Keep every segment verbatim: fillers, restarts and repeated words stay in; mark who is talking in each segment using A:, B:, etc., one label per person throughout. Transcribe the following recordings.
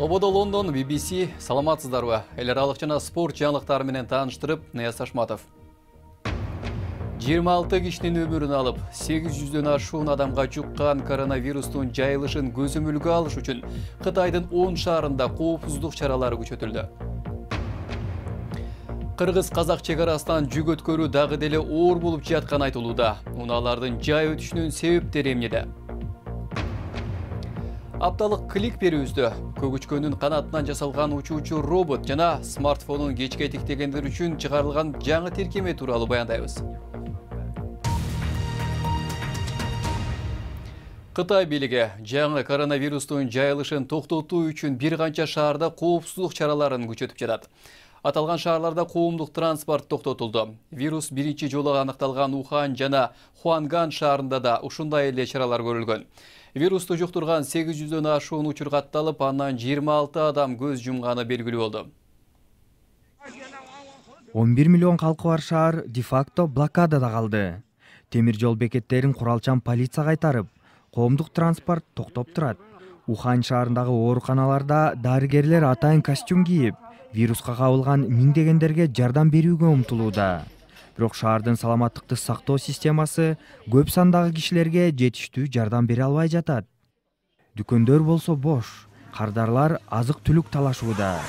A: Ободо Лондон, би би си, саламатсыздарбы. Эл аралык жана спорт жаңылыктары менен тааныштырып, Нияз Ашматов. жыйырма алты кишинин өмүрүн алып, сегиз жүздөн ашуун адамга жуккан коронавирустун жайылышын көзөмөлгө алыш үчүн Кытайдын он шаарында коопсуздук чаралары күчөтүлдү. Кыргыз-казак чек арасынан жүк өткөрүү дагы деле оор болуп жатканы айтылууда. Унаалардын жай өтүшүнүн себептери эмнеде? Апталык клик берүүбүздө көгүчкөнүн канатынан жасалган учуучу робот жана смартфонун кечке тиктегендер үчүн чыгарылган жаңы тиркеме тууралуу баяндайбыз. Кытай бийлиги жаңы коронавирустун жайылышын токтотуу үчүн бир канча шаарда коопсуздук чараларын күчөтүп жатат. Аталган шаарларда коомдук транспорт токтотулду. Вирус биринчи жолу аныкталган Ухан жана Хуанган шаарында да ушундай эле чаралар көрүлгөн. Вирусту жуктурган сегиз жүздөн ашуун учур катталып, андан жыйырма алты адам көз жумганы белгилүү болду.
B: он бир миллион калкы бар шаар де-факто блокадада калды. Темир жол бекеттерин куралчан полиция кайтарып, коомдук транспорт токтоп турат. Ухан шаарындагы ооруканаларда дарыгерлер атайын костюм кийип, вируска кабылган миңдегендерге жардам берүүгө умтулууда. Бирок шаардын саламаттыкты сактоо системасы көп сандагы кишилерге жетиштүү жардам бере албай жатат. Дүкөндөр болсо бош, кардарлар азык-түлүк талашууда.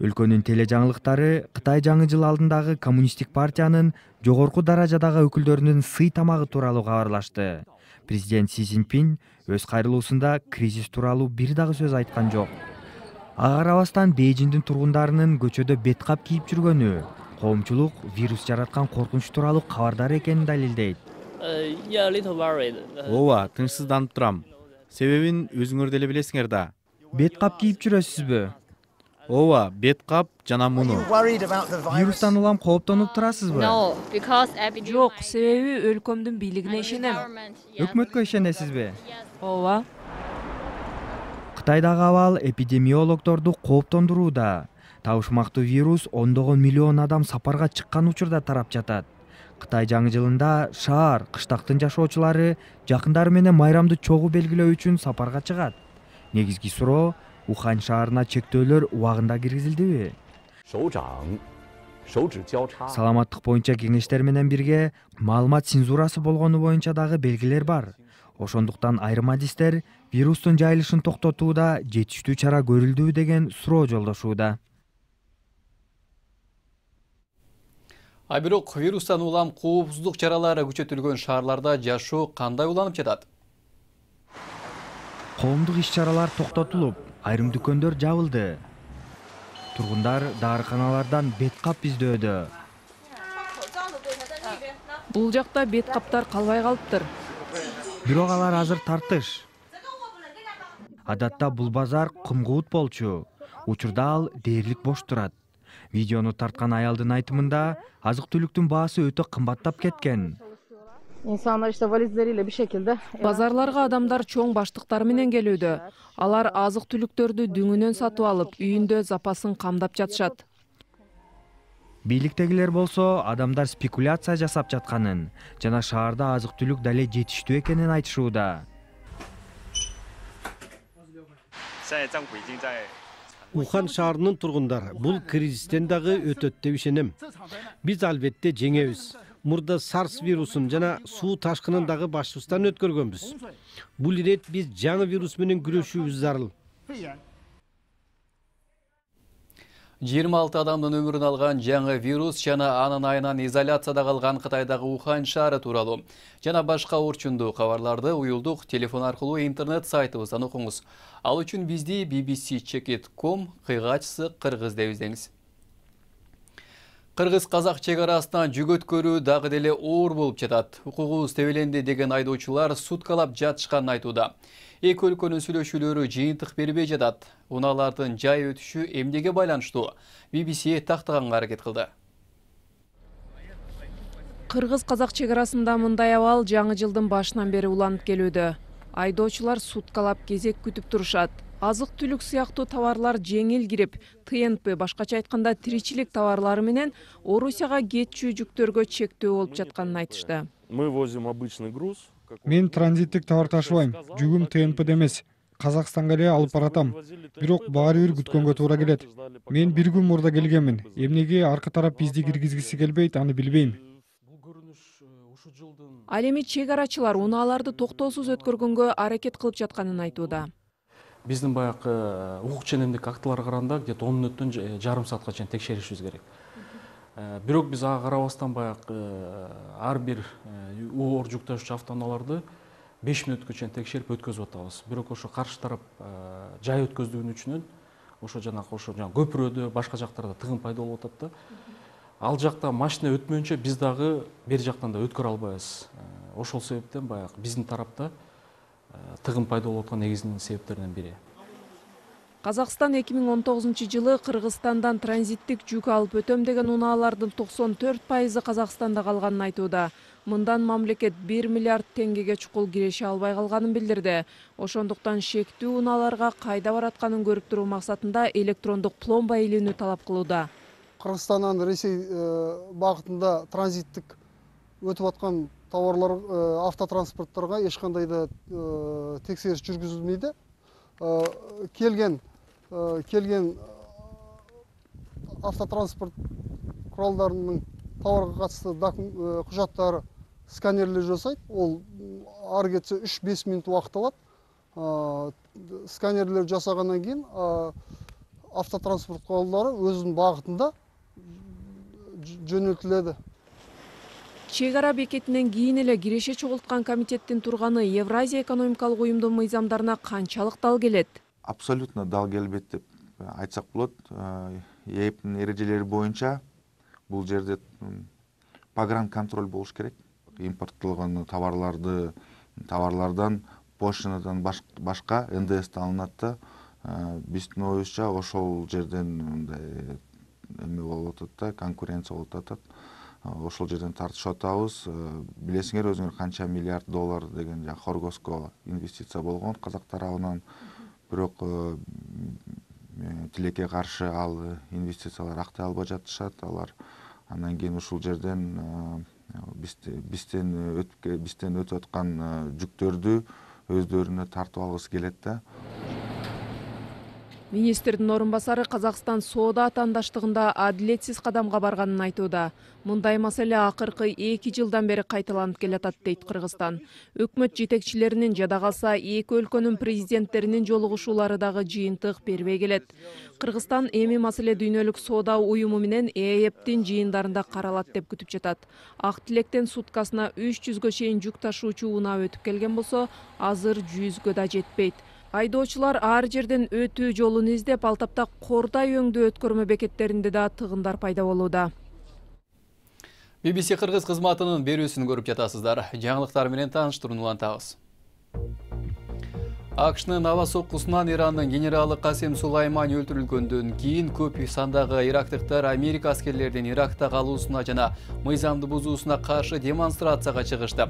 B: Өлкөнүн теле жаңылыктары Кытай жаңы жыл алдындагы коммунисттик партиянын жогорку даражадагы өкүлдөрүнүн сый тамагы тууралуу кабарлашты. Президент Си Цзиньпин өз кайрылуусунда кризис тууралуу бир дагы сөз айткан жок. Ага карабастан Бейжиңдин тургундарынын көчөдө бет кап кийип жүргөнү коомчулук вирус жараткан коркунуч тууралуу кабардар экенин далилдейт.
C: Ооба, тынчсызданып турам. Себебин өзүңөр деле билесиңер да.
B: Бет кап кийип жүрөсүзбү?
C: Ооба, бет кап жана муну.
B: Вирустан улам кооптонуп турасызбы?
D: Жок, себеби өлкөмдүн бийлигине ишенем.
B: Өкмөткө ишенесизби?
D: Ооба.
B: Кытайдагы абал эпидемиологдорду кооптондурууда. Табышмактуу вирус ондогон миллион адам сапарга чыккан учурда тарап жатат. Кытай жаңы жылында шаар, кыштактын жашоочулары жакындары менен майрамды чогуу белгилөө үчүн сапарга чыгат. Негизги суроо, Ухан шаарына чектөөлөр убагында киргизилдиби? Саламаттык боюнча кеңештер менен бирге маалымат цензурасы болгону боюнча дагы белгилер бар. Ошондуктан айрым адистер вирустун жайылышын токтотууда жетиштүү чара көрүлдүбү деген суроо жолдошууда.
A: А бирок вирустан улам коопсуздук чаралары күчөтүлгөн шаарларда жашоо кандай уланып жатат?
B: Коомдук иш-чаралар токтотулуп, айрым дүкөндөр жабылды. Тургундар дарыканалардан бет кап издөөдө.
D: Бул жакта бет каптар калбай калыптыр.
B: Бирок алар азыр тартыш. Адатта бул базар кымгуут болчу. Учурда ал дээрлик бош турат. Видеону тарткан аялдын айтымында азык-түлүктүн баасы өтө кымбаттап кеткен.
D: Базарларга адамдар чоң баштыктары менен келүүдө. Алар азык-түлүктөрдү дүңүнөн сатып алып, үйүндө запасын камдап жатышат.
B: Бийликтегилер болсо адамдар спекуляция жасап жатканын жана шаарда азык-түлүк дале жетиштүү экенин айтышууда.
E: Ухан шаарынын тургундары бул кризистен дагы өтөт деп ишенем. Биз албетте жеңебиз. Мурда сарс вирусун жана суу ташкынын дагы башыбыздан өткөргөнбүз. Бул ирет биз жаңы вирус менен күрөшүүбүз зарыл.
A: жыйырма алты адамдын өмүрүн алган жаңы вирус жана анын айынан изоляцияда калган Кытайдагы Ухан шаары тууралуу жана башка орчундуу кабарларды уюлдук телефон аркылуу интернет сайтыбыздан окуңуз. Ал үчүн бизди би би си чек точка ком кыйгачсы кыргыз деп издеңиз. Кыргыз-казак чек арасынан жүк өткөрүү дагы деле оор болуп жатат. Укугубуз тебеленди деген айдоочулар суткалап жатышканын айтууда. Эки өлкөнүн сүйлөшүүлөрү жыйынтык бербей жатат. Унаалардын жай өтүшү эмнеге байланыштуу? би би си тактаганга аракет кылды.
D: Кыргыз-казак чек арасында мындай абал жаңы жылдын башынан бери уланып келүүдө. Айдоочулар суткалап кезек күтүп турушат. Азык-түлүк сыяктуу товарлар жеңил кирип, тэ эн пэ башкача айтканда тиричилик товарлары менен Орусияга кетчү жүктөргө чектөө болуп жатканын айтышты.
F: Мы возим обычный груз, Мен транзиттик товар ташыбайм, жүгүм Т Н П'де эмес. Казакстанга эле алып баратам. Бирок баары бир күткөнгө туура келет. Мен бир күн мурда келгенмин. Эмнеге аркы тарап бизди киргизгиси келбейт, аны билбейм.
D: Ал эми чек арачылар унааларды токтоосуз өткөргөнгө аракет кылып жатканын айтууда.
G: Биздин баягы укук ченемдик актыларга караганда где-то он мүнөттөн жарым саатка чейин текшеришибиз керек. Бирок биз ага карабастан баягы ар бир оор жүк ташуучу автоунааларды беш мүнөткө чейин текшерип өткөзүп атабыз. Бирок ошо каршы тарап жай өткөздүгүнүн үчүнөн ошо жанагы ошо жана көпүрөдө башка жактарда тыгын пайда болуп атат да. Ал жакта машина өтмөйүнчө биз дагы бери жактан да өткөрө албайбыз. Ошол себептен баягы биздин тарапта тыгын пайда болуп аткан негизги себептердин бири.
D: Казакстан эки миң он тогузунчу жылы Кыргызстандан транзиттик жүк алып өтөм деген унаалардын токсон төрт пайызы Казакстанда калганын айтууда. Мындан мамлекет бир миллиард теңгеге чукул киреше албай калганын билдирди. Ошондуктан шектүү унааларга кайда баратканын көрүп туруу максатында электрондук пломба илүүнү талап кылууда.
H: Кыргызстандан Ресей багытында транзиттик өтүп аткан товарлар автотранспорттарга эч кандай да текшериш жүргүзүлмөйдү. Келген келген автотранспорт куралдарынын товарга катысты кужаттары сканерлер жасайт. Ол ар кетсе үч беш мүнөт убакыт алат. Сканерлер жасагандан кийин автотранспорт куралдары өзүнүн багытында жөнөлтүлөдү.
D: Чек ара бекетинен кийин эле киреше чогулткан комитеттин турганы Евразия экономикалык уюмдун мыйзамдарына канчалык дал келет?
I: Абсолютно дал келбейт деп айтсак болот. Е Эптин эрежелери боюнча бул жерде погран контроль болуш керек. Импорттолгон товарларды товарлардан пошлинадан башка Н Д С алынат да. Биздин оюбузча ошол жерден мындай эме болуп атат да, конкуренция болуп атат. Ошол жерден тартышып атабыз. Билесиңер өзүңөр канча миллиард доллар деген жа Хоргоско инвестиция болгон казак тарабынан. Бирок тилекке каршы ал инвестициялар актай албай жатышат. Алар андан кийин ушул жерден бизден өтүп бизден өтүп аткан жүктөрдү өздөрүнө тартып алгысы келет да.
D: Министрдин орун басары Казакстан соода атаандаштыгында адилетсиз кадамга барганын айтууда. Мындай маселе акыркы эки жылдан бери кайталанып келатат дейт Кыргызстан. Өкмөт жетекчилеринин жада калса эки өлкөнүн президенттеринин жолугушуулары дагы жыйынтык бербей келет. Кыргызстан эми маселе дүйнөлүк соода уюму менен Е Эптин жыйындарында каралат деп күтүп жатат. Ак Тилектен суткасына үч жүзгө чейин жүк ташуучу унаа өтүп келген болсо, азыр жүзгө да жетпейт. Айдоочулар ар жерден өтүү жолун издеп, ал тапта Кордай өңдүү өткөрмө бекеттеринде да тыгындар пайда болууда.
A: Би Би Си Кыргыз кызматынын берүүсүн көрүп жатасыздар. Жаңылыктар менен тааныштырууну улантабыз. АКШнын аба соккусунан Ирандын генералы Касим Сулайман өлтүрүлгөндөн кийин көп сандагы ирактыктар Америка аскерлеринин Иракта калуусуна жана мыйзамды бузуусуна каршы демонстрацияга чыгышты.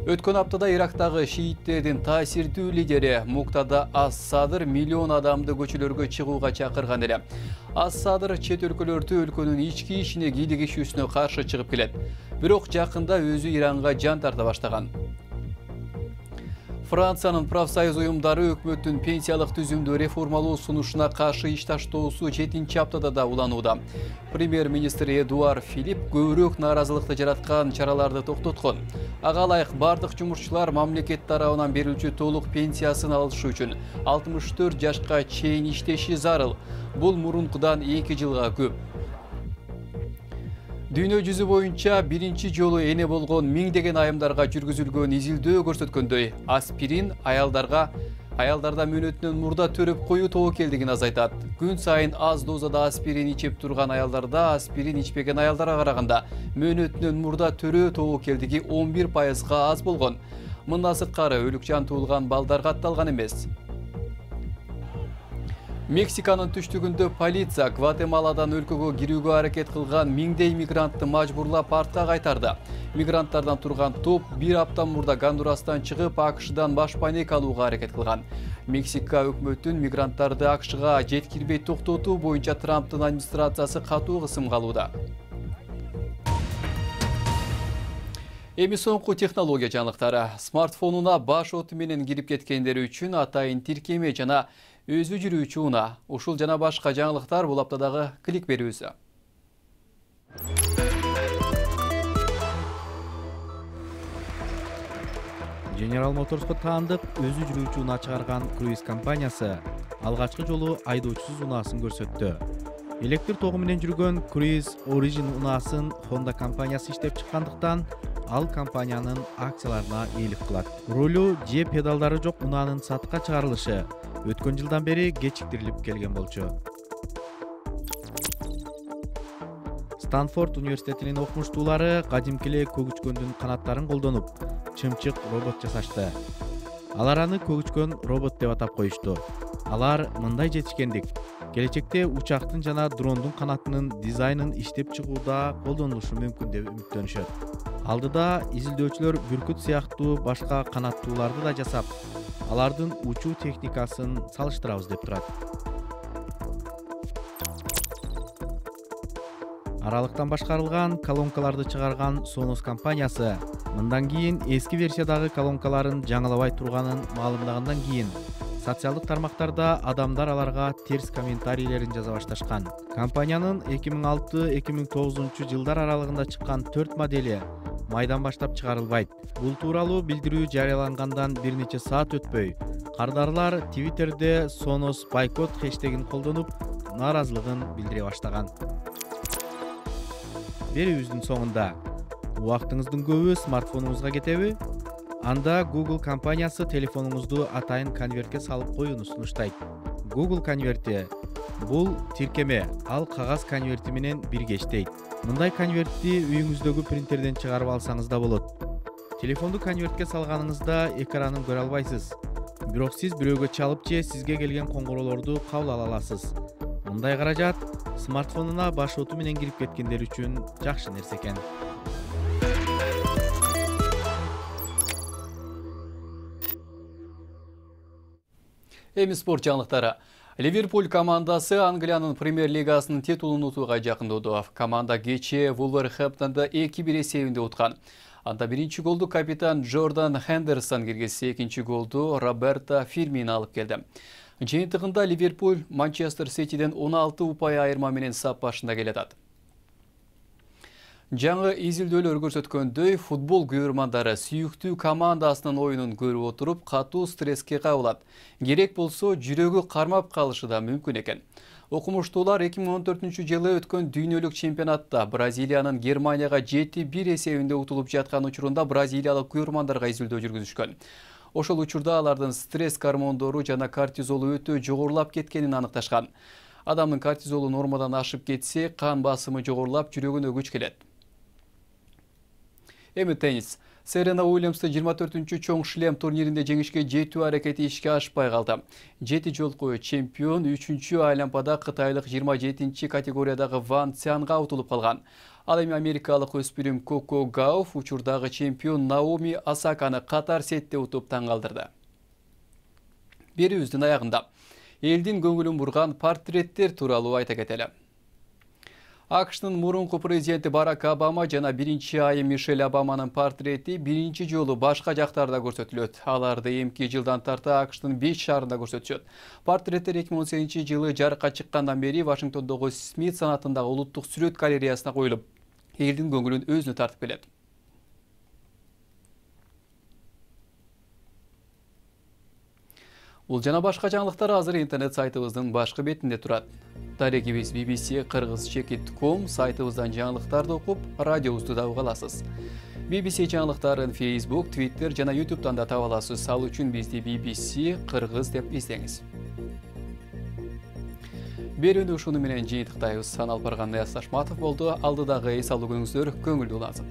A: Өткөн аптада Ирактагы шииттердин таасирдүү лидери Муктада Ас-Садыр миллион адамды көчөлөргө чыгууга чакырган эле. Ас-Садыр чет өлкөлөрдө өлкөнүн ички ишине кийлигишүүсүнө каршы чыгып келет. Бирок жакында өзү Иранга жан тарта баштаган. Франциянын профсоюз уюмдары өкмөттүн пенсиялык түзүмдү реформалоо сунушуна каршы иш таштоосу жетинчи аптада да уланууда. Премьер-министр Эдуард Филипп көбүрөөк нааразылыкты жараткан чараларды токтоткон. Ага ылайык бардык жумушчулар мамлекет тарабынан берилүүчү толук пенсиясын алышы үчүн алтымыш төрт жашка чейин иштеши зарыл. Бул мурункудан эки жылга көп. Дүйнө жүзү боюнча биринчи жолу эне болгон миңдеген айымдарга жүргүзүлгөн изилдөө көрсөткөндөй, аспирин аялдарга аялдарда мөөнөтүнөн мурда төрөп коюу тобокелдигин азайтат. Күн сайын аз дозада аспирин ичип турган аялдарда аспирин ичпеген аялдарга караганда мөөнөтүнөн мурда төрөө тобокелдиги он бир пайызга аз болгон. Мындан сырткары өлүк жан туулган балдар катталган эмес. Мексиканын түштүгүндө полиция Гватемаладан өлкөгө кирүүгө аракет кылган миңдей мигрантты мажбурлап артка кайтарды. Мигранттардан турган топ бир апта мурда Гондурастан чыгып А К Шдан баш пайнек алууга аракет кылган. Мексика өкмөтүн мигранттарды А К Шга жеткирбей токтотуу боюнча Трамптын администрациясы катуу кысымга алууда. Эми соңку технология жаңылыктары. Смартфонуна баш оту менен кирип кеткендер үчүн атайын тиркеме жана өзү жүрүүчү унаа. Ушул жана башка жаңылыктар бул аптадагы клик берүүсү.
C: General Motors'ко таандык өзү жүрүүчү унаа чыгарган круиз компаниясы алгачкы жолу айдоочусуз унаасын көрсөттү. Электр тогу менен жүргөн Cruise Origin унаасын Honda компаниясы иштеп чыккандыктан ал компаниянын акцияларына ээлик кылат. Рулу же педалдары жок унаанын сатыкка чыгарылышы өткөн жылдан бери кечиктирилип келген болчу. Станфорд университетинин окумуштуулары кадимки эле көгүчкөндүн канаттарын колдонуп, чымчык робот жасашты. Алар аны көгүчкөн робот деп атап коюшту. Алар мындай жетишкендик. Келечекте учактын жана дрондун канатынын дизайнын иштеп чыгууда колдонулушу мүмкүн деп үмүттөнүшөт. Алдыда изилдөөчүлөр бүркүт сыяктуу башка канаттууларды да жасап, алардын учуу техникасын салыштырабыз деп турат. Аралыктан башкарылган колонкаларды чыгарган Sonos компаниясы мындан кийин эски версиядагы колонкаларын жаңылабай турганын маалымдагандан кийин социалдык тармактарда адамдар аларга терс комментарийлерин жаза башташкан. Компаниянын эки миң алты эки миң тогузунчу жылдар аралыгында чыккан төрт модели майдан баштап чыгарылбайт. Бул тууралуу билдирүү жарыялангандан бир нече саат өтпөй, кардарлар Twitter'де Sonos бойкот хэштегин колдонуп, нааразылыгын билдире баштаган. Берүүбүздүн соңунда убактыңыздын көбү смартфонуңузга кетеби? Анда Google компаниясы телефонуңузду атайын конвертке салып коюуну сунуштайт. Google конверти бул тиркеме, ал кагаз конверти менен бирге иштейт. Мындай конвертти үйүңүздөгү принтерден чыгарып алсаңыз да болот. Телефонду конвертке салганыңызда экранын көрө албайсыз. Бирок сиз бирөөгө чалып же сизге келген коңгуроолорду кабыл ала аласыз. Мындай каражат смартфонуна баш оту менен кирип кеткендер үчүн жакшы нерсе экен.
A: Эми спорт жаңылыктары. Ливерпуль командасы Англиянын премьер лигасынын титулун утууга жакындоодо. Команда кечээ Вулверхэмптонду эки бир эсебинде уткан. Анда биринчи голду капитан Джордан Хендерсон киргизсе, экинчи голду Роберто Фирмино алып келди. Жыйынтыгында Ливерпуль Манчестер Ситиден он алты упай айырма менен сап башында келатат. Жаңы изилдөөлөр көрсөткөндөй, футбол күйөрмандары сүйүктүү командасынын оюнун көрүп отуруп, катуу стресске кабылат. Керек болсо, жүрөгү кармап калышы да мүмкүн экен. Окумуштуулар эки миң он төртүнчү жылы өткөн дүйнөлүк чемпионатта Бразилиянын Германияга жети бир эсебинде утулуп жаткан учурунда бразилиялык күйөрмандарга изилдөө жүргүзүшкөн. Ошол учурда алардын стресс гормондору жана кортизолу өтө жогорулап кеткенин аныкташкан. Адамдын кортизолу нормадан ашып кетсе, кан басымы жогорулап, жүрөгүнө күч келет. Эми теннис. Серена Уильямсты жыйырма төртүнчү чоң шлем турниринде жеңишке жетүү аракети ишке ашпай калды. Жети жолку чемпион үчүнчү айлампада кытайлык жыйырма жетинчи категориядагы Ван Цянга утулуп калган. Ал эми америкалык өспүрүм Коко Гауф учурдагы чемпион Наоми Осаканы катар сетте утуп таң калтырды. Берүүбүздүн аягында элдин көңүлүн бурган портреттер тууралуу айта кетели. АКШтын мурунку президенти Барак Обама жана биринчи айым Мишель Обаманын портрети биринчи жолу башка жактарда көрсөтүлөт. Аларды эмки жылдан тарта АКШтын беш шаарында көрсөтүшөт. Портреттер эки миң он сегизинчи жылы жарыкка чыккандан бери Вашингтондогу Смит санатындагы улуттук сүрөт галереясына коюлуп, элдин көңүлүн өзүнө тартып келет. Бул жана башка жаңылыктар азыр интернет сайтыбыздын башкы бетинде турат. Дарегибиз би би си кыргыз чекит точка ком сайтыбыздан жаңылыктарды окуп, радиобузду да уга аласыз. би би си жаңылыктарын Facebook, Twitter жана YouTube'дан да таба аласыз. Ал үчүн бизди би би си кыргыз деп издеңиз. Берүүнү ушуну менен жыйынтыктайбыз. Сан Алпарган Аяз Ташматов болду. Алдыдагы эс алуу күнүңүздөр көңүлдүү улансын.